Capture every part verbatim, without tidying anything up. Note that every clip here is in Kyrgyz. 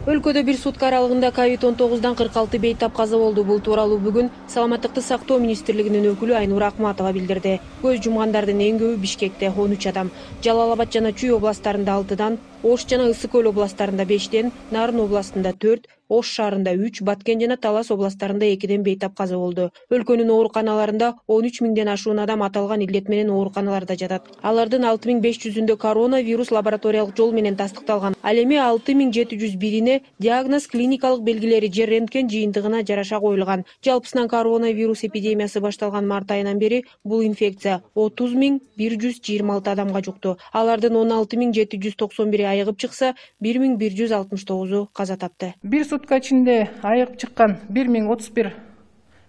Өлкөдө бир сутка аралыгында ковид он тогуздан кырк алты бейтап каза болду. Бул тууралуу бүгүн Саламаттыкты сактоо министрлигинин өкүлү Айнура Акматова билдирди. Көз жумгандардын эң көбү Бишкекте он үч адам, Жалал Абад жана Чүй областтарында алтыдан, Ош жана Ысык көл областтарында бештен, Нарын областында төрт, Ош шаарында үч, Баткен жана Талас областтарында экиден бейтап каза болду. Өлкөнүн ооруканаларында он үч миңден ашуун адам аталган илдет менен ооруканаларда жатат. Алардын алты миң беш жүзүндө коронавирус лабораториялык жол менен тастыкталган. Ал эми алты миң жети жүз бирине диагноз клиникалык белгилери же рентген жыйынтыгына жараша коюлган. Жалпысынан коронавирус эпидемиясы башталган март айынан бери бул инфекция отуз миң бир жүз жыйырма алты адамга жукту. Алардын он алты миң жети жүз токсон бири айыгып чыкса, бир миң бир жүз алтымыш тогузу каза тапты. Бир сутка ичинде айыгып чыккан бир миң отуз бир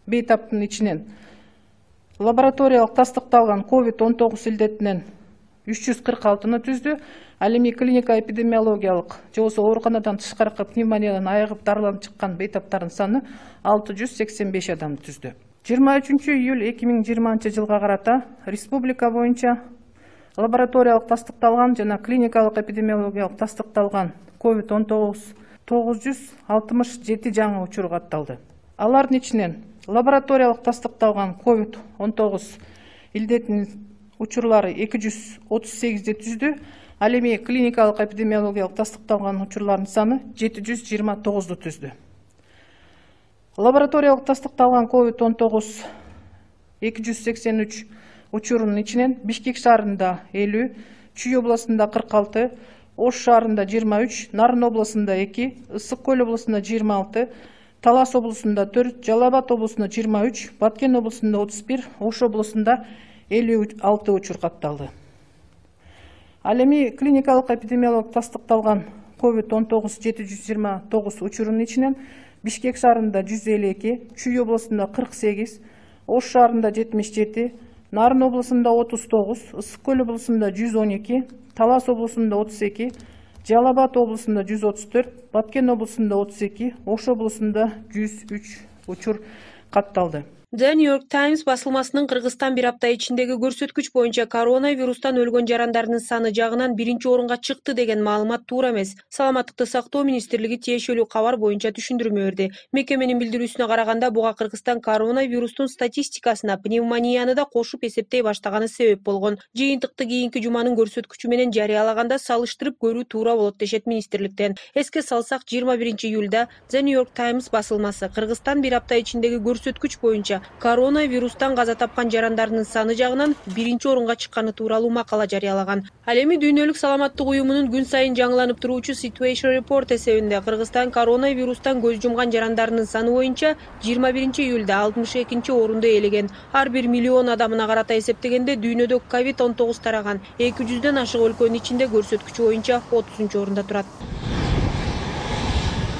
бейтаптын ичинен лабораториялык тастыкталган ковид он тогуз илдетинен үч жүз кырк алтыны түздү. Ал эми клиника эпидемиологиялык же болбосо ооруканадан тышкаркы пневмониядан айыгып дарыланып чыккан бейтаптардын саны алты жүз сексен беш адамды түздү. жыйырма үчүнчү июль эки миң жыйырманчы жылга карата республика боюнча лабораториялык тастыкталган жана клиникалык эпидемиологиялык тастыкталган ковид он тогуз тогуз жүз алтымыш жети жаңы учур катталды. Алардын ичинен лабораториялык тастыкталган ковид он тогуз илдетинин учурлары эки жүз отуз сегизди түздү. Ал эми клиникалык эпидемиологиялык тастыкталган учурлардын саны жети жүз жыйырма тогузду түздү. Лабораториялык тастыкталган ковид он тогуз эки жүз сексен үч учурунун ичинен Бишкек шаарында элүү, Чүй областында кырк алты, Ош шаарында жыйырма үч, Нарын областында эки, Ысык көл областында жыйырма алты, Талас областында төрт, Жалал Абад областында жыйырма үч, Баткен областында отуз бир, Ош областында элүү алты учур катталды. Ал эми клиникалык эпидемиологиялык тастыкталган ковид он тогуз жети жүз жыйырма тогуз учурунун ичинен Бишкек шаарында жүз элүү эки, Чүй областында кырк сегиз, Ош шаарында жетимиш жети, Нарын областында отуз тогуз, Ысык көл областында жүз он эки, Талас областында отуз эки, Жалал Абад областында жүз отуз төрт, Баткен областында отуз эки, Ош областында жүз үч учур катталды. The New York Times басылмасынын Кыргызстан бир апта ичиндеги көрсөткүч боюнча коронавирустан өлгөн жарандардын саны жагынан биринчи орунга чыкты деген маалымат туура эмес. Саламаттыкты сактоо министрлиги тиешелүү кабар боюнча түшүндүрмө берди. Мекеменин билдирүүсүнө караганда, буга Кыргызстан коронавирустун статистикасына пневмонияны да кошуп эсептей баштаганы себеп болгон. Жыйынтыкты кийинки жуманын көрсөткүчү менен жарыялаганда салыштырып көрүү туура болот дешет министрликтен. Эске салсак, жыйырма биринчи июлда The New York Times басылмасы Кыргызстан бир апта ичиндеги көрсөткүч боюнча коронавирустан каза тапкан жарандардын саны жагынан биринчи орунга чыкканы тууралуу макала жарыялаган. Ал эми Дүйнөлүк саламаттык уюмунун күн сайын жаңыланып туруучу Situation Report эсебинде Кыргызстан коронавирустан көз жумган жарандардын саны боюнча жыйырма биринчи июлда алтымыш экинчи орунду ээлеген. Ар бир миллион адамына карата эсептегенде дүйнөдө ковид он тогуз тараган эки жүздөн ашык өлкөнүн ичинде көрсөткүчү боюнча отузунчу орунда турат.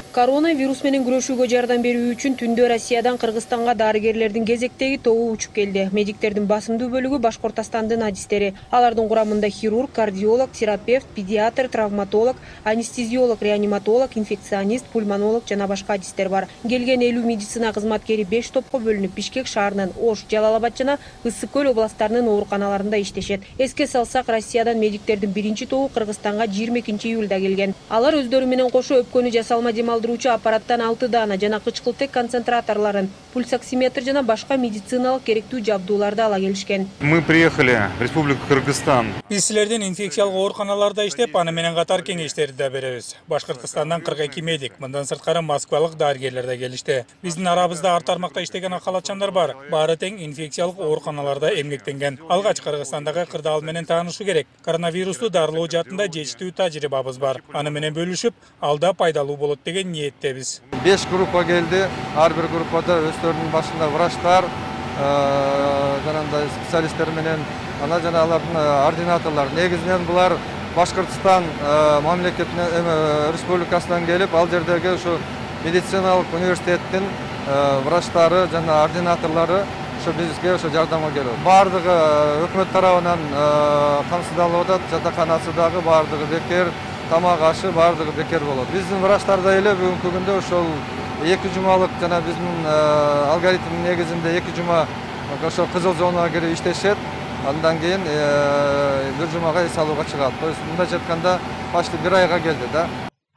Коронавирус менен күрөшүүгө жардам берүү үчүн түндө Россиядан Кыргызстанга дарыгерлердин кезектеги тобу учуп келди. Медиктердин басымдуу бөлүгү Башкортостандын адистери. Алардын курамында хирург, кардиолог, терапевт, педиатр, травматолог, анестезиолог, реаниматолог, инфекционист, пульмонолог жана башка адистер бар. Келген элүү медицина кызматкери беш топко бөлүнүп Бишкек шаарынын, Ош, Жалал Абад жана Ысык көл областтарынын ооруканаларында иштешет. Эске салсак, Россиядан медиктердин биринчи тобу Кыргызстанга жыйырма экинчи июлда келген. Алар өздөрү менен кошо өпкөнү жасалма демалдыруучу аппараттан алты даана жана кычкылтек концентраторлорун, пульсоксиметр жана башка медициналык керектүү жабдууларды ала келишкен. Мы приехали в Республику Кыргызстан. Биз силердин инфекциялык ооруканаларда иштеп, аны менен катар кеңештерди да беребиз. Башкортостандан кырк эки медик, мындан сырткары москвалык дарыгерлер да келишти. Биздин арабызда ар тармакта иштеген акалатчандар бар. Баары тең инфекциялык ооруканаларда эмгектенген. Алгач Кыргызстандагы кырдаал менен таанышуу керек. Коронавирусту дарылоо жаатында жетиштүү тажрыйбабыз бар. Аны менен бөлүшүп, алда пайдалуу болот деген ниетте. беш группа келди. Ар бир группада өздөрүнүн башында врачтар, жанагындай специалисттер менен, ана жана алардын ординаторлор. Негизинен булар Башкортостан мамлекетинен, республикасынан келип, ал жердеги ушу медициналык университеттин врачтары жана ординаторлору ушу бизге ушу жардамга келип. Бардыгы өкмөт тарабынан камсыздалып атат, жатаканасы дагы бардыгы бекер. Тамак ашы бардыгы бекер болот. Биздин врачтар да эле бүгүнкү күндө ошол эки жумалык жана биздин алгоритмдин негизинде эки жума ошо кызыл зонага кирип иштешет. Андан кийин бир жумага эс алууга чыгат. То есть мындайча айтканда почти бир айга келди да.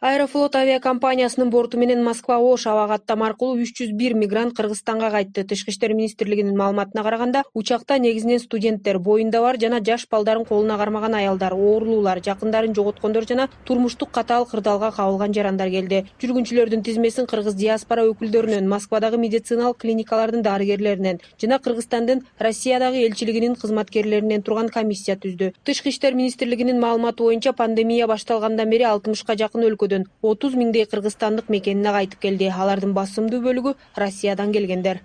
Аэрофлот авиакомпаниясынын борту менен Москва-Ош аба каттам аркылуу үч жүз бир мигрант Кыргызстанга кайтты. Тышкы иштер министрлигинин маалыматына караганда, учакта негизинен студенттер, боюнда бар жана жаш балдарын колуна кармаган аялдар, оорулуулар, жакындарын жоготкондор жана турмуштук катаал кырдаалга кабылган жарандар келди. Жүргүнчүлөрдүн тизмесин кыргыз диаспора өкүлдөрүнөн, Москвадагы медициналык клиникалардын дарыгерлеринен жана Кыргызстандын Россиядагы элчилигинин кызматкерлеринен турган комиссия түздү. Тышкы иштер министрлигинин маалыматы боюнча, пандемия башталгандан бери алтымышка жакын өлкөдөн отуз миңдей кыргызстандык мекенине кайтып келди. Алардын басымдуу бөлүгү Россиядан келгендер.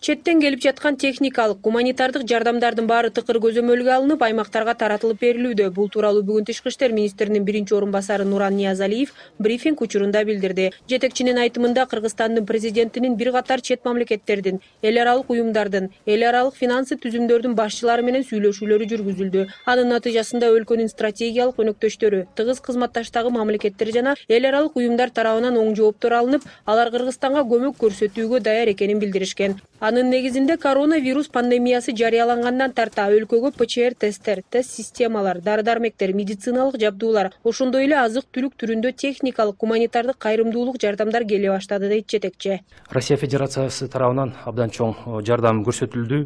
Четтен келип жаткан техникалык, гуманитардык жардамдардын баары тыкыр көзөмөлгө алынып, аймактарга таратылып берилүүдө. Бул тууралуу бүгүн Тышкы иштер министринин биринчи орун басары Нуран Ниязалиев брифинг учурунда билдирди. Жетекчинин айтымында, Кыргызстандын президентинин бир катар чет мамлекеттердин, эл аралык уюмдардын, эл аралык финансы түзүмдөрдүн башчылары менен сүйлөшүүлөрү жүргүзүлдү. Анын натыйжасында өлкөнүн стратегиялык өнөктөштөрү, тыгыз кызматташтагы мамлекеттер жана эл аралык уюмдар тарабынан оң жооптор алынып, алар Кыргызстанга көмөк көрсөтүүгө даяр экенин билдиришкен. Анын негизинде коронавирус пандемиясы жарыялангандан тарта өлкөгө ПЧР тесттер, тест системалар, дары-дармектер, медициналык жабдуулар, ошондой эле азык-түлүк түрүндө техникалык, гуманитардык кайрымдуулук жардамдар келе баштады, дейт жетекчи. Россия Федерациясы тарабынан абдан чоң жардам көрсөтүлдү.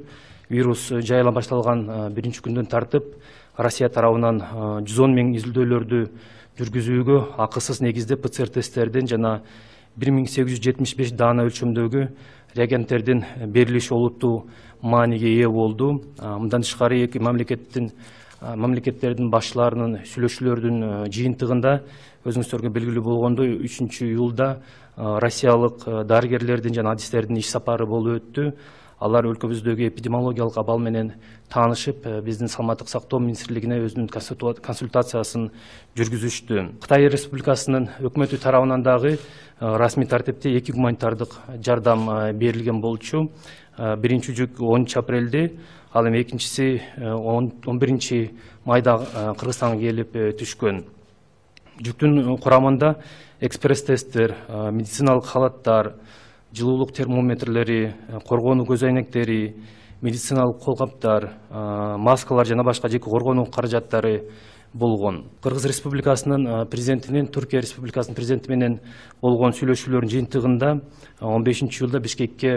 Вирус жайыла башталган биринчи күндөн тартып, Россия тарабынан жүз он миң изилдөөлөрдү жүргүзүүгө акысыз негизде ПЦР тесттердин жана бир миң сегиз жүз жетимиш беш даана өлчөмдөгү реагенттердин берилиши олуттуу мааниге ээ болду. Мындан тышкары эки мамлекеттин мамлекеттердин башчыларынын сүйлөшүүлөрдүн жыйынтыгында өзүңүздөргө белгилүү болгондой үчүнчү июлда россиялык дарыгерлердин жана адистердин иш сапары болуп өттү. Алар өлкөбүздөгү эпидемиологиялык абал менен таанышып, биздин саламаттык сактоо министрлигине өзүнүн консультациясын жүргүзүштү. Кытай Республикасынын өкмөтү тарабынан дагы расмий тартипте эки гуманитардык жардам берилген болчу. Биринчи жүк онунчу апрелде, ал эми экинчиси он биринчи майда Кыргызстанга келип түшкөн. Жүктүн курамында экспресс-тесттер, медициналык халаттар, жылуулук термометрлери, коргонуу көз айнектери, медициналык колкаптар, маскалар жана башка жеке коргонуу каражаттары болгон. Кыргыз Республикасынын президентинин Түркия Республикасынын президенти менен болгон сүйлөшүүлөрдүн жыйынтыгында он бешинчи июлда Бишкекке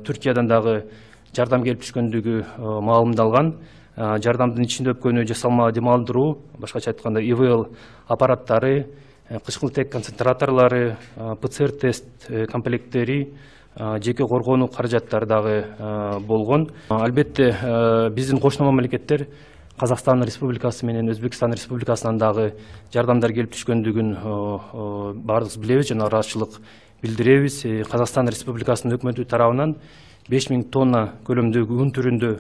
Түркиядан дагы жардам келип түшкөндүгү маалымдалган. Жардамдын ичинде өпкөнү жасалма демалдыруу, башкача айтканда И В Л аппараттары, кычкыл тек концентраторлары, ПЦР тест комплекттери, жеке коргонуу каражаттары дагы болгон. Албетте, биздин кошуна мамлекеттер Казакстан Республикасы менен Өзбекстан Республикасынан дагы жардамдар келип түшкөндүгүн баардыгыбыз билебиз жана ыраазычылык билдиребиз. Казакстан Республикасынын өкмөтү тарабынан беш миң тонна көлөмдөгү үн түрүндө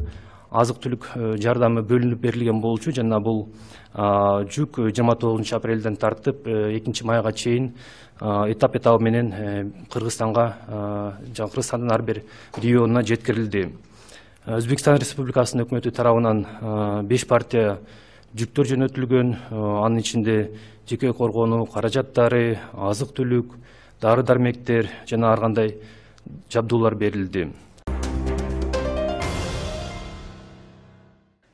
азык-түлүк жардамы бөлүнүп берилген болчу жана бул жүк жыйырма тогузунчу апрелден тартып экинчи майга чейин этап этабы менен Кыргызстанга жана Кыргызстандын ар бир регионуна жеткирилди. Өзбекстан Республикасынын өкмөтү тарабынан беш партия жүктөр жөнөтүлгөн, анын ичинде жеке коргонуу каражаттары, азык-түлүк, дары-дармектер жана ар кандай жабдуулар берилди.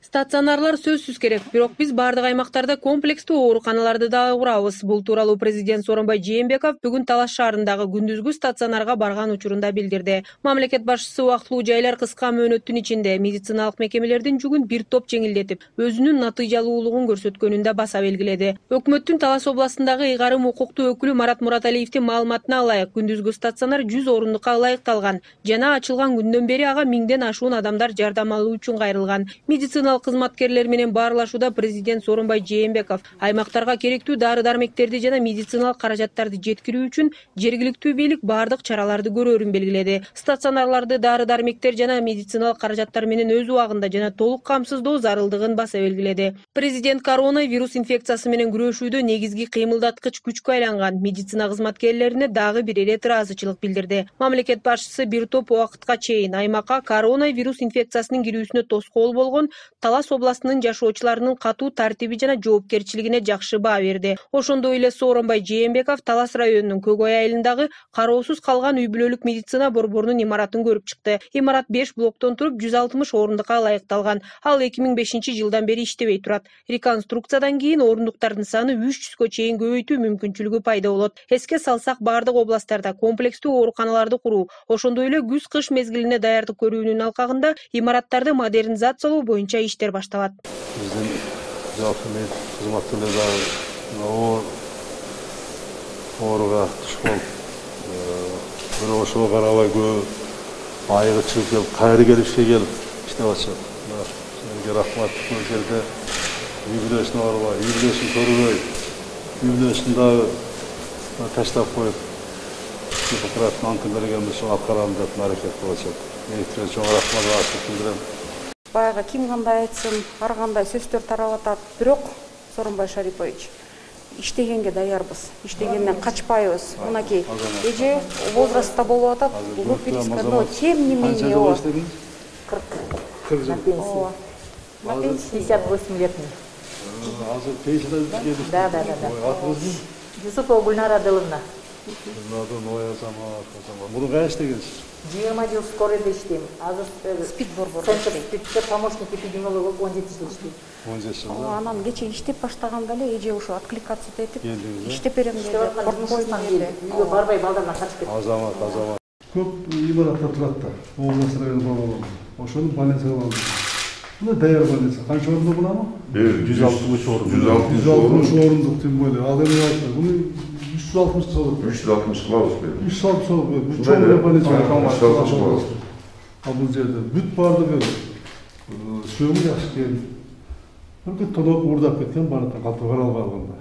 Стационарлар сөзсүз керек, бирок биз бардык аймактарда комплекстүү ооруканаларды дагы курабыз. Бул тууралуу президент Сооронбай Жээнбеков бүгүн Талаш шаарындагы күндүзгү стационарга барган учурунда билдирди. Мамлекет башчысы убактылуу жайлар кыска мөөнөттүн ичинде медициналык мекемелердин жүгүн бир топ жеңилдетип, өзүнүн натыйжалуулугун көрсөткөнүн да баса белгиледи. Өкмөттүн Талаш областындагы ыйгарым укуктуу өкүлү Марат Мураталиевдин маалыматына ылайык, күндүзгү стационар жүз орундукка ылайыкталган жана ачылган күндөн бери ага миңден ашуун адамдар жардам алуу үчүн кайрылган. Медициналык кызматкерлер менен баарлашууда президент Сооронбай Жээнбеков аймактарга керектүү дары-дармектерди жана медициналык каражаттарды жеткирүү үчүн жергиликтүү бийлик бардык чараларды көрөрүн белгиледи. Стационарларды дары-дармектер жана медициналык каражаттар менен өз убагында жана толук камсыздоо зарылдыгын баса белгиледи. Президент коронавирус инфекциясы менен күрөшүүдө негизги кыймылдаткыч күчкө айланган медицина кызматкерлерине дагы бир ирет ыраазычылык билдирди. Мамлекет башчысы бир топ убакытка чейин аймакка коронавирус инфекциясынын кирүүсүнө тоскоол болгон Талас областынын жашоочуларынын катуу тартиби жана жоопкерчилигине жакшы баа берди. Ошондой эле Сооронбай Жээнбеков Талас районунун Көк Ой айылындагы кароосуз калган үй бүлөлүк медицина борборунун имаратын көрүп чыкты. Имарат беш блоктон туруп жүз алтымыш орундукка ылайыкталган. Ал эки миң бешинчи жылдан бери иштебей турат. Реконструкциядан кийин орундуктардын саны үч жүзгө чейин көбөйтүү мүмкүнчүлүгү пайда болот. Эске салсак, бардык областтарда комплекстүү ооруканаларды куруу, ошондой эле күз-кыш мезгилине даярдык көрүүнүн алкагында имараттарды модернизациялоо боюнча иштер башталат. Биздин жалпы мед кызматтуулар дагы ооруга туш болуп, бирок ошого карабай көп айыгы чыгып келип, кайра келип ишке келип иштеп атышат. Силерге рахмат. Бул жерде үй бүлөсүн оорубай, үй бүлөсүн көрбөй, үй бүлөсүн дагы таштап коюп, Гиппократын антын бергенбиз, ошо аткарам деп аракет кылып атышат. Мектепке чоң рахмат айтып Баягы ким кандай айтсын, ар кандай сөздөр тарап атат, бирок Сооронбай Шарипович иштегенге даярбыз, иштегенден качпайбыз. Мынакей эже возрастта болуп атат, группировка, но тем не менее о кырк жыл. На пенсии пятьдесят восемь лет. Азыр пенсияда келип. Да, да, да. Атыңыз? Юсупова Гульнара Адыловна. Муну кайда иштегенсиз? жыйырма жыл скорыйда иштейм. Азыр спид борборунда иштейм. Спидте помощник эпидемиолог он жети жыл иштейм. он жети жыл. Анан кече иштеп баштаганда эле эже ошо откликаться этип иштеп берем деди. Үйгө барбай балдарына качып кетти. Азамат, азамат. Көп имараттар турат да. Облас району болобу. Ошону больницага алдым. Мына даяр больница. Канча орунду буламы? жүз алтымыш орун. жүз алтымыш орундук тем более. Ал эми айтты. Буну үч жүз алтымыш болот. үч жүз алтымыш кылабыз бе? үч жүз алтымыш болот. Бул чоң больница. А бул жерде бүт бардыгы сөөгү жакшы экен. Бир тоноп уурдап кеткен бардык калтырып каралып алганда.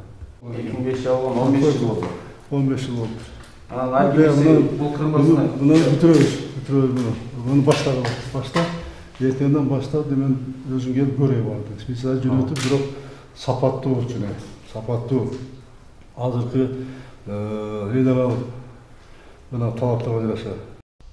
эки миң бешинчи алган он беш жыл болду. он беш жыл болду. Анан айбиси бул кырмызына Муну бүтүрөбүз, бүтүрөбүз муну. Муну баштаган, башта эртеңден баштап мен өзүм келип көрөй барды. Специалист жөнөтүп, бирок сапаттуу жөнө, сапаттуу. Азыркы рейдерал мына талаптарга жараша.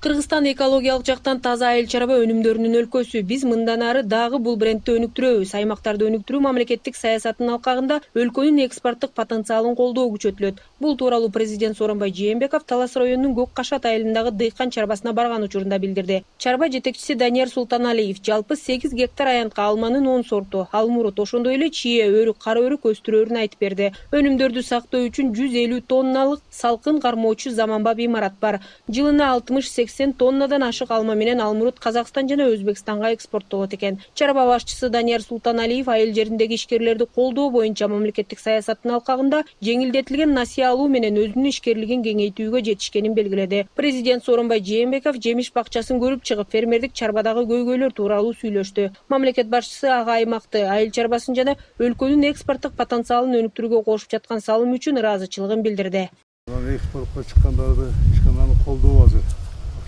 Кыргызстан экологиялык жактан таза айыл чарба өнүмдөрүнүн өлкөсү. Биз мындан ары дагы бул брендти өнүктүрөбүз. Аймактарды өнүктүрүү мамлекеттик саясатынын алкагында өлкөнүн экспорттук потенциалын колдоо күчөтүлөт. Бул тууралуу президент Сооронбай Жээнбеков Талас районунун Көк Кашат айылындагы дыйкан чарбасына барган учурунда билдирди. Чарба жетекчиси Данияр Султаналиев жалпы сегиз гектар аянтка алманын он сорту, алмурут, ошондой эле чие, өрүк, кара өрүк өстүрөөрүн айтып берди. Өнүмдөрдү сактоо үчүн жүз элүү тонналык салкын кармоочу заманбап имарат бар. Жылына алтымыш сексен тоннадан ашык алма менен алмурут Казакстан жана Өзбекстанга экспорттолот экен. Чарба башчысы Данияр Султаналиев айыл жериндеги ишкерлерди колдоо боюнча мамлекеттик саясаттын алкагында жеңилдетилген насыя алуу менен өзүнүн ишкерлигин кеңейтүүгө жетишкенин белгиледи. Президент Сооронбай Жээнбеков жемиш бакчасын көрүп чыгып, фермердик чарбадагы көйгөйлөр тууралуу сүйлөштү. Мамлекет башчысы ага аймакты, айыл чарбасын жана өлкөнүн экспорттук потенциалын өнүктүрүүгө кошуп жаткан салым үчүн ыраазычылыгын билдирди. Экспортко чыккандарды ишкананы колдоо азыр.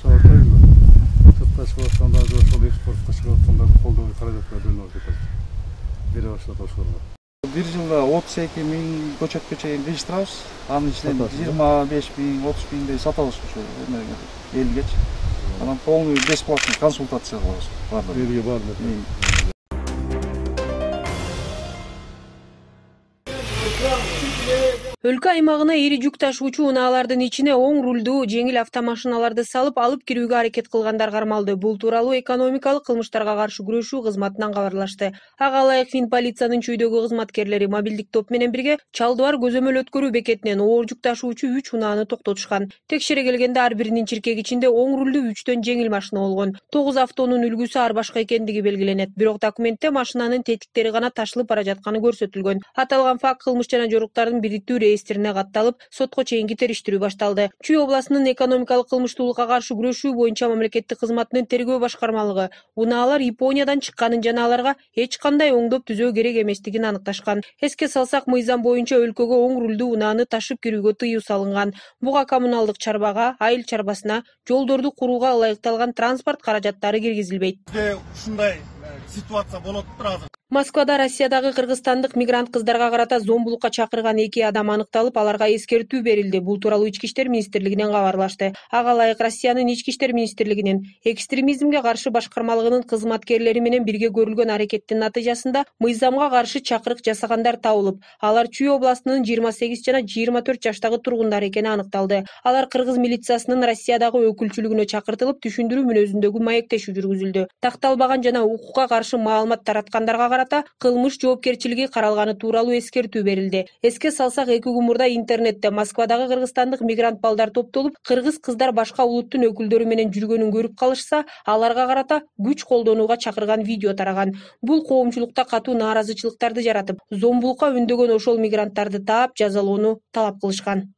Атайбы. Сыртка чыгып аткандарды, ошол экспортко чыгып аткандарды колдоо каражаттар бөлүнүп жатат. Бере баштады ошолор. Бир жылда отуз эки миң көчөткө чейин кыйыштырабыз. Анын ичинен жыйырма беш миң, отуз миңдей сатабыз ошо эмеге, элгечи. Анан полный бесплатный консультация кылабыз. Бардык. Элге бардык. Өлкө аймагына ири жүк ташуучу унаалардын ичине оң рулдуу жеңил автомашиналарды салып алып кирүүгө аракет кылгандар кармалды. Бул тууралуу экономикалык кылмыштарга каршы күрөшүү кызматынан кабарлашты. Ага ылайык Фин полициянын чүйдөгү кызматкерлери мобилдик топ менен бирге Чалдыбар көзөмөл өткөрүү бекетинен оор жүк ташуучу үч унааны токтотушкан. Текшере келгенде ар биринин чиркеги ичинде оң рулдуу үчтөн жеңил машина болгон. тогуз автонун үлгүсү ар башка экендиги белгиленет. Бирок документте машинанын тетиктери гана ташылып бара жатканы көрсөтүлгөн. Аталган факт кылмыш жана жоруктардын бириктүү реестрине катталып, сотко чейинки териштирүү башталды. Чүй областынын экономикалык кылмыштуулукка каршы күрөшүү боюнча мамлекеттик кызматынын тергөө башкармалыгы унаалар Япониядан чыкканын жана аларга эч кандай оңдоп түзөө керек эместигин аныкташкан. Эске салсак, мыйзам боюнча өлкөгө оң рулдуу унааны ташып кирүүгө тыюу салынган. Буга коммуналдык чарбага, айыл чарбасына, жолдорду курууга ылайыкталган транспорт каражаттары киргизилбейт. Ушундай ситуация болуп тур азыр. Москвада Россиядагы кыргызстандык мигрант кыздарга карата зомбулукка чакырган эки адам аныкталып, аларга эскертүү берилди. Бул тууралуу Ички иштер министрлигинен кабарлашты. Ага ылайык Россиянын Ички иштер министрлигинин экстремизмге каршы башкармалыгынын кызматкерлери менен бирге көрүлгөн аракеттин натыйжасында мыйзамга каршы чакырык жасагандар табылып, алар Чүй областынын жыйырма сегиз жана жыйырма төрт жаштагы тургундары экени аныкталды. Алар кыргыз милициясынын Россиядагы өкүлчүлүгүнө чакыртылып, түшүндүрүү мүнөзүндөгү маектешүү жүргүзүлдү. Такталбаган жана укукка каршы маалымат тараткандарга карата кылмыш жоопкерчилиги каралганы тууралуу эскертүү берилди. Эске салсак, эки күн мурда интернетте Москвадагы кыргызстандык мигрант балдар топтолуп, кыргыз кыздар башка улуттун өкүлдөрү менен жүргөнүн көрүп калышса, аларга карата күч колдонууга чакырган видео тараган. Бул коомчулукта катуу нааразычылыктарды жаратып, зомбулукка үндөгөн ошол мигранттарды таап, жазалоону талап кылышкан.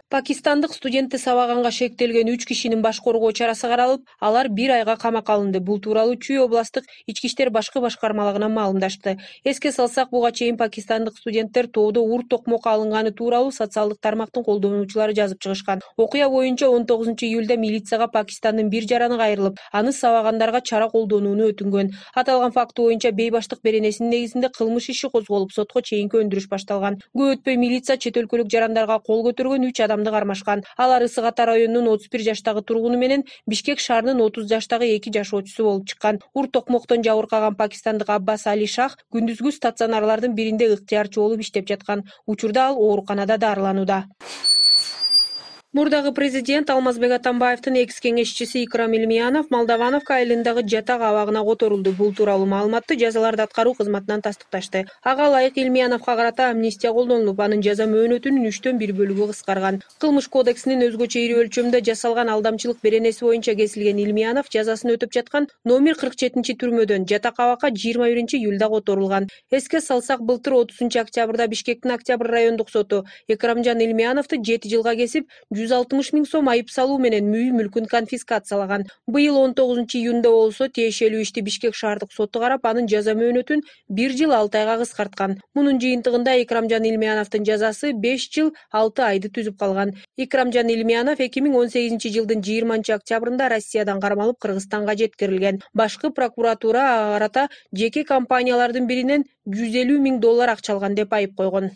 Пакистандык студентти сабаганга шектелген үч кишинин баш коргоо чарасы каралып, алар бир айга камакка алынды. Бул тууралуу Чүй областтык ички иштер башкы башкармалыгынан маалымдашты. Эске салсак, буга чейин пакистандык студенттер тоодо ур токмокко алынганы тууралуу социалдык тармактын колдонуучулары жазып чыгышкан. Окуя боюнча он тогузунчу июлда милицияга Пакистандын бир жараны кайрылып, аны сабагандарга чара колдонууну өтүнгөн. Аталган факты боюнча бейбаштык беренесинин негизинде кылмыш иши козголуп, сотко чейинки өндүрүш башталган. Көп өтпөй милиция чет өлкөлүк жарандарга кол көтөргөн үч адам кармашкан. Алар Ысык Ата районунун отуз бир жаштагы тургуну менен Бишкек шаарынын отуз жаштагы эки жашоочусу болуп чыккан. Ур токмоктон жабыркаган пакистандык Аббас Али Шах күндүзгү стационарлардын биринде ыктыярчы болуп иштеп жаткан. Учурда ал ооруканада дарыланууда. Мурдагы президент Алмазбек Атамбаевдин экс кеңешчиси Икрам Илмиянов Молдовановка айылындагы жатак абагына которулду. Бул тууралуу маалыматты жазаларды аткаруу кызматынан тастыкташты. Ага ылайык Илмияновго карата амнистия колдонулуп, анын жаза мөөнөтүнүн үчтөн бир бөлүгү кыскарган. Кылмыш кодексинин өзгөчө ири өлчөмдө жасалган алдамчылык беренеси боюнча кесилген Илмиянов жазасын өтөп жаткан номер кырк жетинчи түрмөдөн жатак абакка жыйырма биринчи июлда которулган. Эске салсак, былтыр отузунчу октябрда Бишкектин Октябрь райондук соту Экрамжан Илмияновду жети жылга кесип, жүз алтымыш миң сом айып салуу менен мүй мүлкүн конфискациялаган. Быйыл он тогузунчу июнда болсо тиешелүү ишти Бишкек шаардык соту карап, анын жаза мөөнөтүн бир жыл алты айга кыскарткан. Мунун жыйынтыгында Экрамжан Илмияновдун жазасы беш жыл алты айды түзүп калган. Экрамжан Илмиянов эки миң он сегизинчи жылдын жыйырманчы октябрында Россиядан кармалып Кыргызстанга жеткирилген. Башкы прокуратура ага карата жеке компаниялардын биринен жүз элүү миң доллар акча алган деп айып койгон.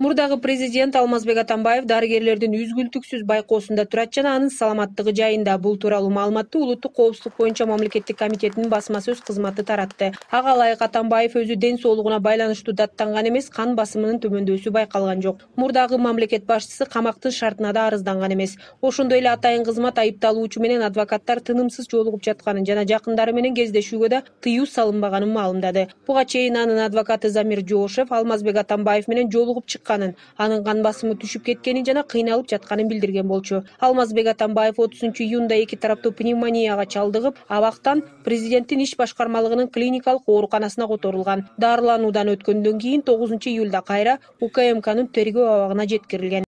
Мурдагы президент Алмазбек Атамбаев дарыгерлердин үзгүлтүксүз байкоосунда турат жана анын саламаттыгы жайында. Бул тууралуу маалыматты Улуттук коопсуздук боюнча мамлекеттик комитетинин басма сөз кызматы таратты. Ага ылайык Атамбаев өзү ден соолугуна байланыштуу даттанган эмес, кан басымынын төмөндөшү байкалган жок. Мурдагы мамлекет башчысы камактын шартына да арызданган эмес. Ошондой эле атайын кызмат айыпталуучу менен адвокаттар тынымсыз жолугуп жатканын жана жакындары менен кездешүүгө да тыюу салынбаганын маалымдады. Буга чейин анын адвокаты Замир Жоошев Алмазбек Атамбаев менен жолугуп чыккан, анын кан басымы түшүп кеткенин жана кыйналып жатканын билдирген болчу. Алмазбек Атамбаев отузунчу июнда эки тараптуу пневмонияга чалдыгып, абактан президенттин иш башкармалыгынын клиникалык ооруканасына которулган. Дарылануудан өткөндөн кийин тогузунчу июлда кайра УКМКнын тергөө абагына жеткирилген.